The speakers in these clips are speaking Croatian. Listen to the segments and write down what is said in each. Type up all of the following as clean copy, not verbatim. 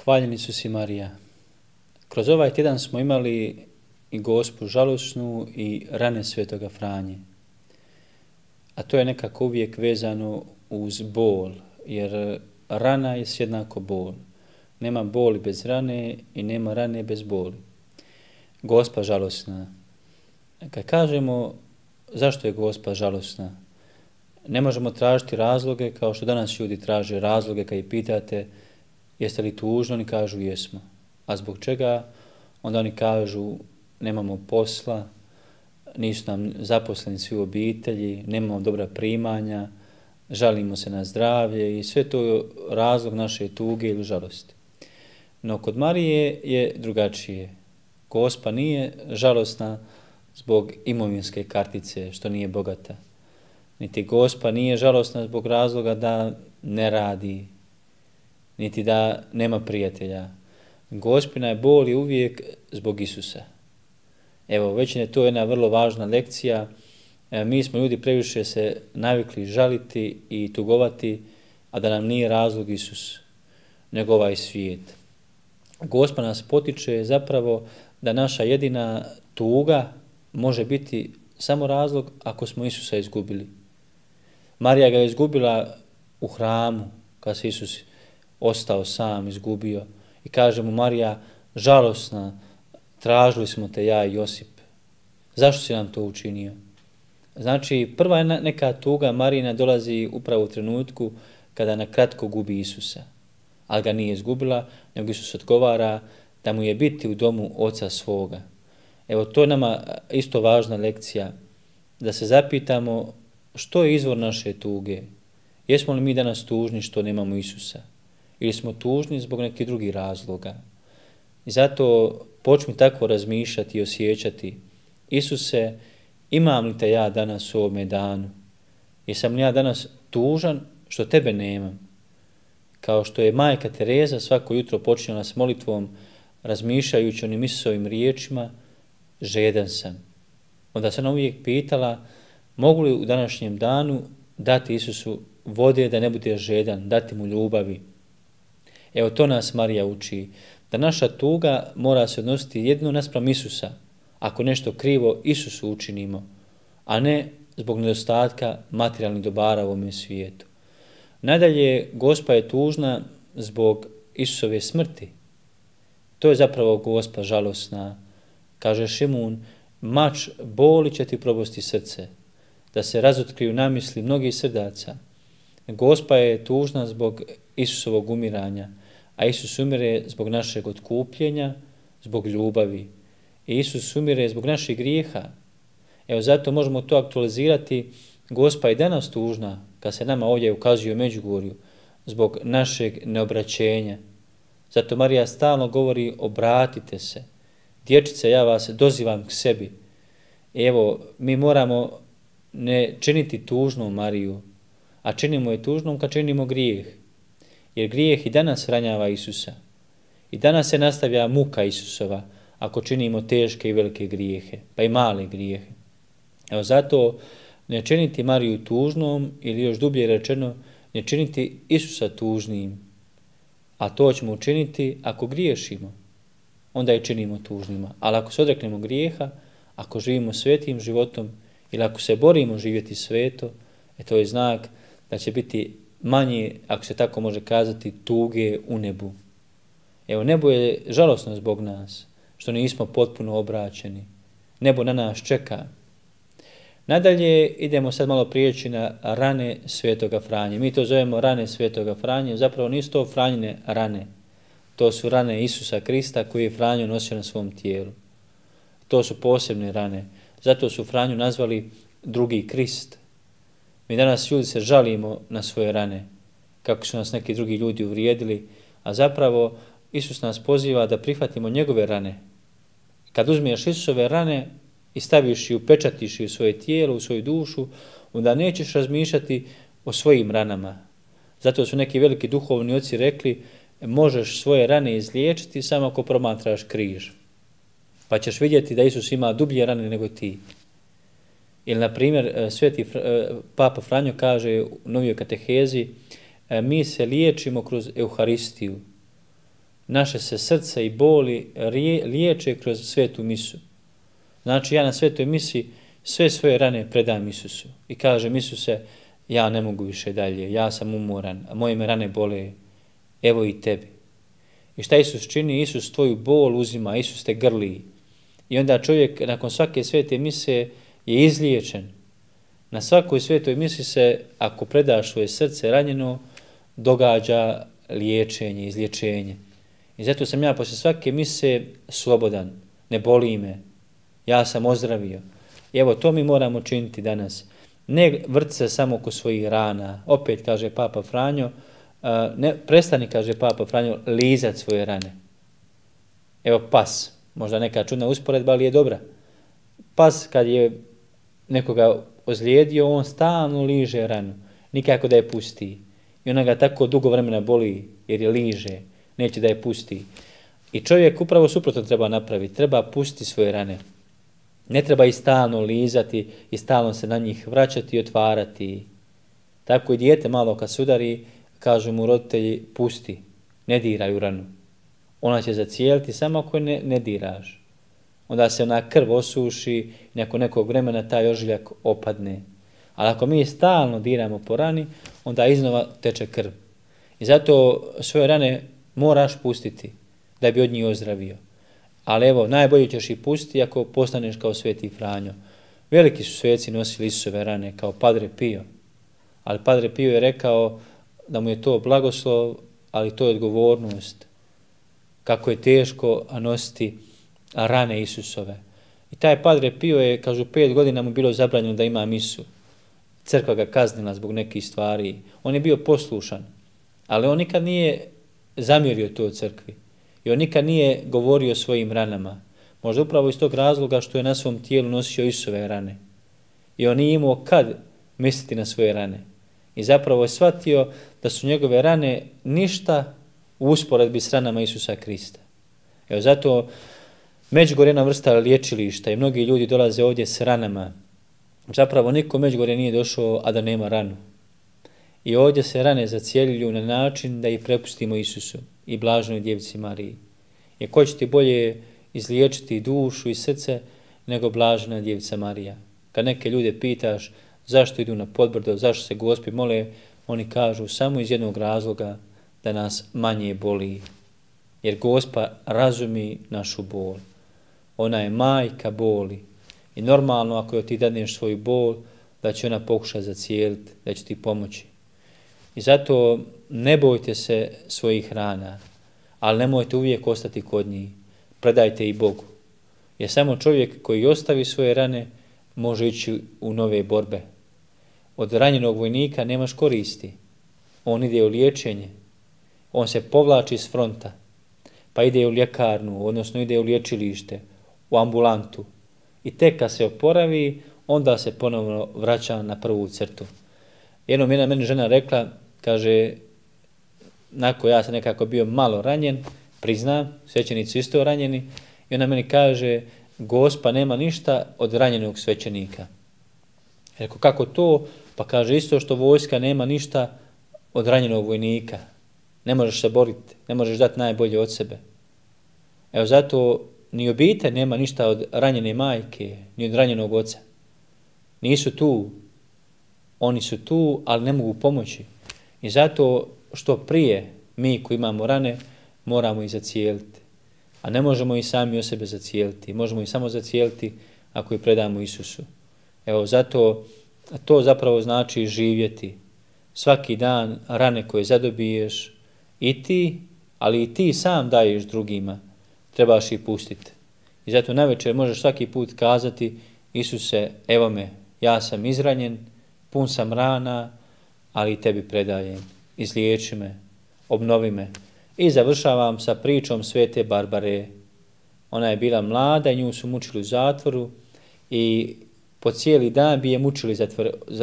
Hvaljeni su si Marija. Kroz ovaj tjedan smo imali i Gospu žalosnu i rane Svetoga Franje. A to je nekako uvijek vezano uz bol, jer rana je jednako bol. Nema boli bez rane i nema rane bez boli. Gospa žalosna. Kad kažemo zašto je Gospa žalosna, ne možemo tražiti razloge kao što danas ljudi traže razloge kad ih pitate jeste li tužni, oni kažu jesmo. A zbog čega? Onda oni kažu nemamo posla, nisu nam zaposleni svi u obitelji, nemamo dobra primanja, žalimo se na zdravlje i sve to je razlog naše tuge ili žalosti. No kod Marije je drugačije. Gospa nije žalosna zbog imovinske kartice, što nije bogata. Niti Gospa nije žalosna zbog razloga da ne radi, niti da nema prijatelja. Gospina je bol i uvijek zbog Isusa. Evo, već je to jedna vrlo važna lekcija. Mi smo ljudi previše se navikli žaliti i tugovati, a da nam nije razlog Isus, nego ovaj svijet. Gospa nas potiče zapravo da naša jedina tuga može biti samo razlog ako smo Isusa izgubili. Marija ga je izgubila u hramu, kad se Isus ostao sam, izgubio. I kaže mu Marija, žalosna, tražili smo te ja i Josip. Zašto si nam to učinio? Znači, prva neka tuga Marijina dolazi upravo u trenutku kada na kratko gubi Isusa. Ali ga nije izgubila, nego Isus odgovara da mu je biti u domu oca svoga. Evo, to je nama isto važna lekcija, da se zapitamo što je izvor naše tuge. Jesmo li mi danas tužni što nemamo Isusa? Ili smo tužni zbog nekih drugih razloga? I zato počni tako razmišljati i osjećati. Isuse, imam li te ja danas u ovome danu? Jesam li ja danas tužan što tebe nemam? Kao što je majka Tereza svako jutro počinjala s molitvom, razmišljajući onim Isusovim riječima, žedan sam. Onda se ona uvijek pitala, mogu li u današnjem danu dati Isusu vode da ne bude žedan, dati mu ljubavi. Evo to nas Marija uči, da naša tuga mora se odnositi jedino naspram Isusa, ako nešto krivo Isusu učinimo, a ne zbog nedostatka materijalnih dobara u ovome svijetu. Nadalje, Gospa je tužna zbog Isusove smrti. To je zapravo Gospa žalosna. Kaže Šimun, mač boli će ti probosti srce, da se razotkriju namisli mnogih srdaca. Gospa je tužna zbog Isusovog umiranja, a Isus umire zbog našeg otkupljenja, zbog ljubavi. I Isus umire zbog naših grijeha. Evo zato možemo to aktualizirati. Gospa je danas tužna, kad se nama ovdje ukazuje u Međugorju, zbog našeg neobraćenja. Zato Marija stalno govori, obratite se. Dječice, ja vas dozivam k sebi. Evo, mi moramo ne činiti tužnu Mariju, a činimo je tužnom kad činimo grijeh. Jer grijeh i danas ranjava Isusa. I danas se nastavlja muka Isusova ako činimo teške i velike grijehe, pa i male grijehe. Evo zato ne činiti Mariju tužnom ili još dublje rečeno ne činiti Isusa tužnim. A to ćemo učiniti ako griješimo. Onda je činimo tužnima. Ali ako se odreknemo grijeha, ako živimo svetim životom ili ako se borimo živjeti sveto, to je znak da će biti manje, ako se tako može kazati, tuge u nebu. Evo, nebo je žalosno zbog nas, što nismo potpuno obraćeni. Nebo na nas čeka. Nadalje, idemo sad malo prijeći na rane Svetoga Franje. Mi to zovemo rane Svetoga Franje, zapravo nisu to Franjine rane. To su rane Isusa Krista koji je Franjo nosio na svom tijelu. To su posebne rane. Zato su Franju nazvali drugi Krist. Mi danas ljudi se žalimo na svoje rane, kako su nas neki drugi ljudi uvrijedili, a zapravo Isus nas poziva da prihvatimo njegove rane. Kad uzmiješ Isusove rane i staviš i upečatiš u svoje tijelo, u svoju dušu, onda nećeš razmišljati o svojim ranama. Zato su neki veliki duhovni oci rekli, možeš svoje rane izliječiti samo ako promatraš križ. Pa ćeš vidjeti da Isus ima dublje rane nego ti. Ili, na primjer, sveti Papa Franjo kaže u novijoj katehezi, mi se liječimo kroz Euharistiju. naše se srce i boli liječe kroz svetu misu. Znači ja na svetoj misi sve svoje rane predam Isusu i kažem Isuse, ja ne mogu više dalje, ja sam umoran, a moje me rane bole, evo i tebi. I šta Isus čini? Isus tvoju bol uzima, Isus te grli. I onda čovjek nakon svake svete mise je izliječen. Na svakoj svetoj misi se, ako predaš svoje srce ranjeno, događa liječenje, izlječenje. I zato sam ja poslije svake mise slobodan, ne boli me, ja sam ozdravio. I evo, to mi moramo činiti danas. Ne vrti se samo oko svojih rana. Opet, kaže Papa Franjo, prestani, kaže Papa Franjo, lizat svoje rane. Evo pas, možda neka čudna usporedba, ali je dobra. Pas kad je nekoga ozlijedio, on stalno liže ranu, nikako da je pusti. I ona ga tako dugo vremena boli jer je liže, neće da je pusti. I čovjek upravo suprotno treba napraviti, treba pustiti svoje rane. Ne treba ih stalno lizati i stalno se na njih vraćati i otvarati. Tako i dijete malo kad se udari, kažu mu roditelji, pusti, ne diraj u ranu. Ona će zacijeliti samo ako je ne diraš. Onda se ona krv osuši i nakon nekog vremena taj ožiljak opadne. Ali ako mi stalno diramo po rani, onda iznova teče krv. I zato svoje rane moraš pustiti da bi od njih ozdravio. Ali evo, najbolje ćeš ih pustiti ako postaneš kao Sveti Franjo. Veliki su sveci nosili Isusove rane kao Padre Pio. Ali Padre Pio je rekao da mu je to blagoslov, ali to je odgovornost. Kako je teško nositi rane Isusove. I taj Padre Pio je, kažu, 5 godina mu bilo zabranjeno da ima misu. Crkva ga kaznila zbog nekih stvari. On je bio poslušan, ali on nikad nije zamjerio to crkvi. I on nikad nije govorio o svojim ranama. Možda upravo iz tog razloga što je na svom tijelu nosio Isusove rane. I on nije imao kad misliti na svoje rane. I zapravo je shvatio da su njegove rane ništa u usporedbi s ranama Isusa Krista. Evo zato Međugorje je jedna vrsta liječilišta i mnogi ljudi dolaze ovdje s ranama. Zapravo niko u Međugorje nije došao, a da nema ranu. I ovdje se rane zacjeljuju na način da ih prepustimo Isusu i blaženoj Djevici Mariji. Jer ko će ti bolje izliječiti dušu i srce nego blažena Djevica Marija. Kad neke ljude pitaš zašto idu na Podbrdo, zašto se Gospi mole, oni kažu samo iz jednog razloga da nas manje boli. Jer Gospa razumi našu bol. Ona je majka boli. I normalno ako ti dadneš svoju bol, da će ona pokušati zacijeliti, da će ti pomoći. I zato ne bojte se svojih rana, ali nemojte uvijek ostati kod njih. Predajte ih Bogu. Jer samo čovjek koji ostavi svoje rane može ići u nove borbe. Od ranjenog vojnika nemaš koristi. On ide u liječenje. On se povlači s fronta. Pa ide u ljekarnu, odnosno ide u liječilište, u ambulantu. I tek kad se oporavi, onda se ponovno vraća na prvu crtu. Jednom jedna meni žena rekla, kaže, nakon ja sam nekako bio malo ranjen, priznam, svećenici isto ranjeni, i ona meni kaže, Gospa nema ništa od ranjenog svećenika. Rekao, kako to? Pa kaže, isto što vojska nema ništa od ranjenog vojnika. Ne možeš se boriti, ne možeš dati najbolje od sebe. Evo zato ni obitelj nema ništa od ranjene majke, ni od ranjenog oca. Nisu tu. Oni su tu, ali ne mogu pomoći. I zato što prije mi koji imamo rane, moramo ih zacijeliti. A ne možemo ih sami o sebe zacijeliti. Možemo ih samo zacijeliti ako ih predamo Isusu. Evo zato to zapravo znači živjeti. Svaki dan rane koje zadobiješ i ti, ali i ti sam daješ drugima. Trebaš ih pustiti. I zato navečer možeš svaki put kazati, Isuse, evo me, ja sam izranjen, pun sam rana, ali i tebi predajem. Izliječi me, obnovi me. I završavam sa pričom Svete Barbare. Ona je bila mlada i nju su mučili u zatvoru i po cijeli dan bi je mučili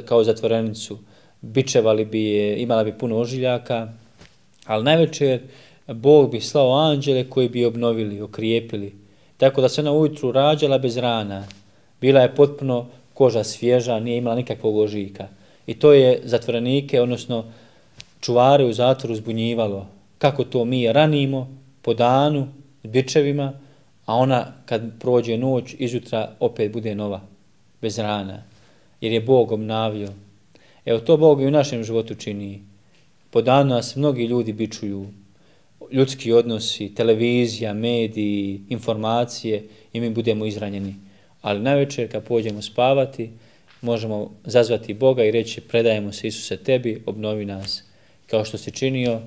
kao zatvorenicu. Bičevali bi je, imala bi puno ožiljaka, ali navečer Bog bi slao anđele koji bi je obnovili, okrijepili. Tako da se ona ujutru rađala bez rana. Bila je potpuno koža svježa, nije imala nikakvog ožiljka. I to je zatvorenike, odnosno čuvare u zatvoru zbunjivalo. Kako to mi ranimo, po danu s bičevima, a ona kad prođe noć, izjutra opet bude nova, bez rana, jer je Bog obnavio. Evo to Bog i u našem životu čini. Po danu nas mnogi ljudi bičuju, ljudski odnosi, televizija, mediji, informacije i mi budemo izranjeni. Ali navečer kad pođemo spavati, možemo zazvati Boga i reći predajemo se Isuse tebi, obnovi nas, kao što si činio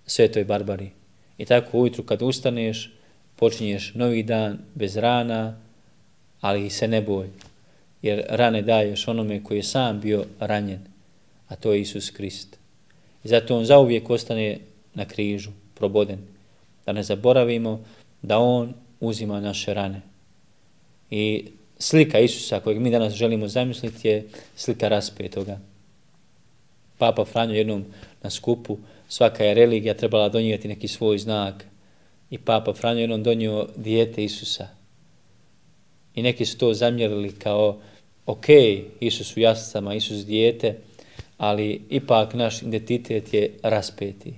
Svetoj Barbari. I tako ujutru kad ustaneš, počinješ novi dan bez rana, ali se ne boj, jer rane daješ onome koji je sam bio ranjen, a to je Isus Krist. I zato on zauvijek ostane na križu, proboden. Da ne zaboravimo da on uzima naše rane. I slika Isusa kojeg mi danas želimo zamisliti je slika raspetoga. Papa Franjo jednom na skupu, svaka je religija trebala donijeti neki svoj znak. I Papa Franjo jednom donio dijete Isusa. I neki su to zamjerili kao, ok, Isus u jaslicama, Isus dijete, ali ipak naš identitet je raspeti.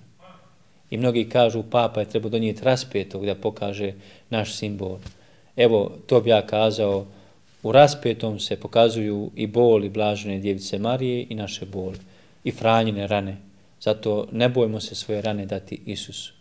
I mnogi kažu, Papa je trebao donijeti raspetog da pokaže naš simbol. Evo, to bi ja kazao, u raspetom se pokazuju i boli blažene Djevice Marije i naše boli, i Franjine rane. Zato ne bojmo se svoje rane dati Isusu.